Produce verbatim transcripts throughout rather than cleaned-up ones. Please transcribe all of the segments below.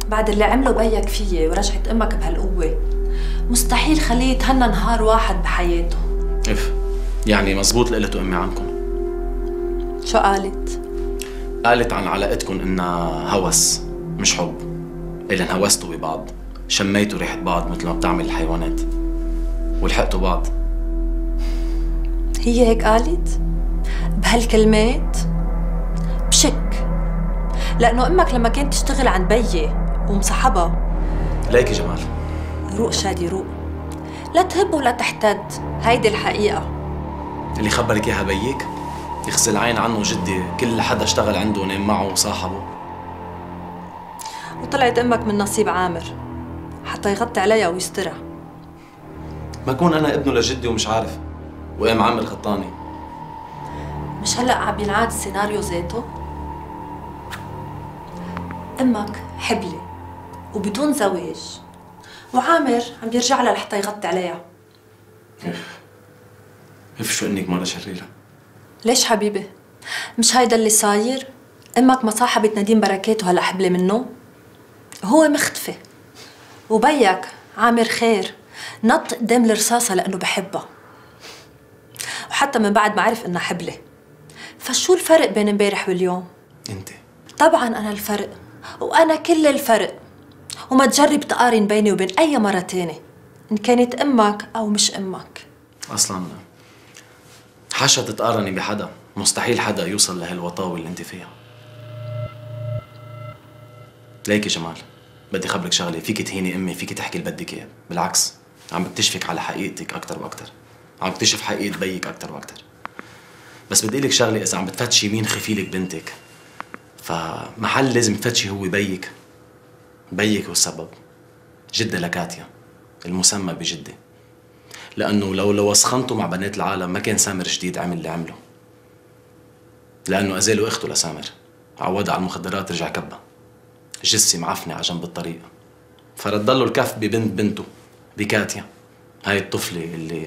بعد اللي عمله بيك فيي ورجعت امك بهالقوة مستحيل خليه يتهنى نهار واحد بحياته. اف يعني مزبوط اللي قلته امي عنكم. شو قالت؟ قالت عن علاقتكم انها هوس مش حب، إلا انهوستوا ببعض، شميتوا ريحة بعض مثل ما بتعمل الحيوانات ولحقتوا بعض. هي هيك قالت؟ بهالكلمات؟ بشك، لأنه أمك لما كانت تشتغل عند بيي ومصاحبها. ليكي جمال، روق شادي روق، لا تهب ولا تحتد، هيدي الحقيقة. اللي خبرك اياها بيك؟ يخزي العين عنه جدي، كل حدا اشتغل عنده ونام معه وصاحبه. وطلعت أمك من نصيب عامر حتى يغطي عليها ويسترها. ما كون أنا ابنه لجدي ومش عارف، وقام عامر غطاني. مش هلأ عم ينعاد السيناريو ذاته؟ أمك حبلة وبدون زواج، وعامر عم بيرجع لها لحتى يغطي عليها. اف اف شو انك مرة شريرة. ليش حبيبي؟ مش هيدا اللي صاير؟ أمك ما صاحبت نديم بركات وهلأ حبلة منه؟ هو مختفي، وبيك عامر خير نط قدام الرصاصة لأنه بحبها، وحتى من بعد ما عرف إنها حبلة. فشو الفرق بين امبارح واليوم؟ انت طبعا أنا الفرق، وأنا كل الفرق، وما تجرب تقارن بيني وبين أي مرة تانية إن كانت أمك أو مش أمك. أصلاً حاشا تتقارني بحدا، مستحيل حدا يوصل لهالوطاوة اللي انت فيها. ليكي جمال، بدي خبرك شغلة، فيك تهيني أمي، فيك تحكي اللي بدك إياه، بالعكس عم بكتشفك على حقيقتك أكتر وأكتر، عم بكتشف حقيقة بيك أكتر وأكتر. بس بدي لك شغلة، إذا عم بتفتشي مين خفيلك بنتك، فمحل لازم تفتشي هو بيك. بيك هو السبب، جدة لكاتيا المسمى بجدة، لأنه لو لو وسخنته مع بنات العالم ما كان سامر جديد عمل اللي عمله، لأنه أزالوا أخته لسامر، عودها على المخدرات رجع كبها، جثة معفنة على جنب الطريق، فرد له الكف ببنت بنته بكاتيا، هاي الطفلة اللي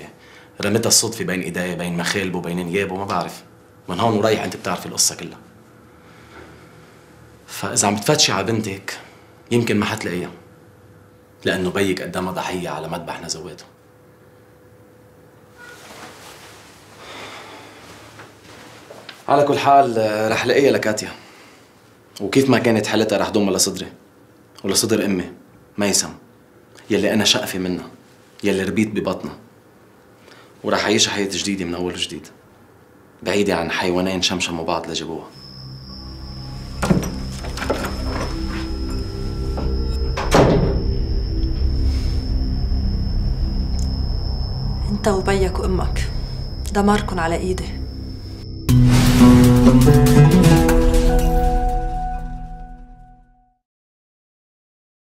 رمتها الصدفة بين إيديه بين مخالبه وبين نيابه ما بعرف، من هون ورايح أنت بتعرفي القصة كلها. فإذا عم بتفتشي على بنتك يمكن ما حتلاقيها، لأنه بيك قدامها ضحية على مذبح نزواته. على كل حال رح لاقيها لكاتيا، وكيف ما كانت حالتها رح ضمها لصدري ولصدر امي ميسم، يلي انا شقفي منها، يلي ربيت ببطنها، ورح اعيش حياة جديدة من اول وجديد، بعيدة عن حيوانين شمشموا بعض لجابوها. انت وبيك وامك دماركن على ايدي.